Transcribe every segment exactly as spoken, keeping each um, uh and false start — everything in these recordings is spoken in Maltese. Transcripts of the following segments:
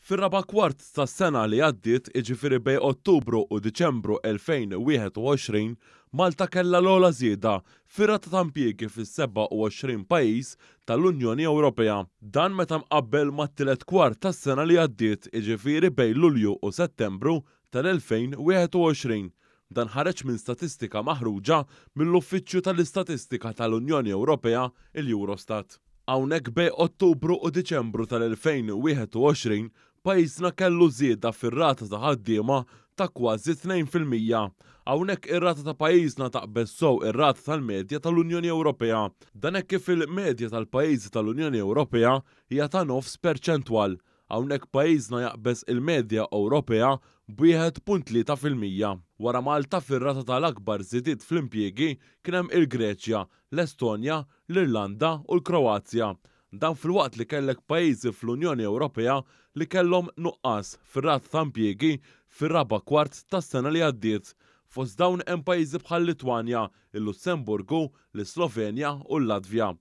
Fir-raba' kwart tas-sena li għaddiet, jiġifieri bejn Ottubru u Diċembru elfejn u wieħed u għoxrin, Malta kellha l-ogħla żieda fir-rata ta' impjiegi fis-sebgħa u għoxrin pajjiż tal-Unjoni Ewropea. Dan meta mqabbel mat-tielet kwart tas-sena li għaddiet, jiġifieri bejn Lulju u Settembru tal-elfejn u wieħed u għoxrin. Dan ħareġ minn statistika maħruġa mill-Uffiċċju tal-Istatistika tal-Unjoni Ewropea, il-Eurostat. Hawnhekk bejn Ottubru u Diċembru tal-elfejn u wieħed u għoxrin, pajjiżna kellu żieda fir-rata ta' ħaddiema ta' kważi tnejn fil-mija. Hawnhekk ir-rata ta' pajjiżna taqbeż sew ir-rata tal-medja tal-Unjoni Ewropea. Dan hekk kif il-medja tal-pajjiżi tal-Unjoni Ewropea hija ta' nofs perċentwal. Hawnhekk pajjiżna jaqbeż il-medja Ewropea b'wieħed punt tlieta fil-mija. Wara Malta fir-rata tal-akbar żidiet fl-impjiegi kien hemm il-Greċja, l-Estonja, l-Irlanda u l-Kroazja. Dan filwaqt li kellek pajjiżi fl-Unjoni Ewropea li kellhom nuqqas fir-rata ta' impjiegi fir-raba' kwart tas-sena li għaddiet. Fost dawn hemm pajjiżi bħal Litwanja, il-Lussemburgu, l-Slovenja u l-Latvja.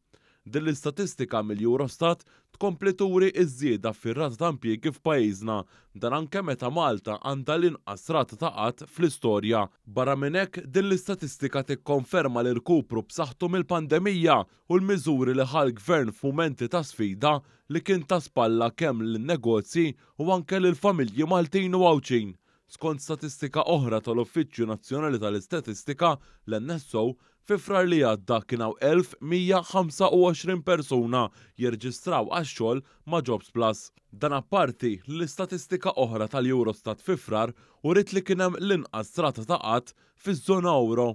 Din l-istatistika mill-Eurostat tkompli turi ż-żieda fir-rata ta' impjiegi f'pajjiżna, dan anke meta Malta għandha l-inqas rata ta' qgħad fl-istorja. Barra minn hekk, din l-istatistika tikkonferma l-irkupru b'saħħtu mill-pandemija u l-miżuri li ħa l-gvern f'mumenti ta' sfida li kien ta' spalla kemm lin-negozji u anke lill-familji Maltin u Għawdxin. Skont statistika oħra tal-Uffiċċju Nazzjonali tal-Istatistika, l-N S O, fi Frar li għadda kien hawn elf mija ħamsa u għoxrin persuna jirreġistraw għax-xogħol ma' Jobs Plus. Dan apparti l-istatistika oħra tal-Eurostat fi Frar uriet li kien hemm l-inqas rata ta' qgħad fiż-żona euro.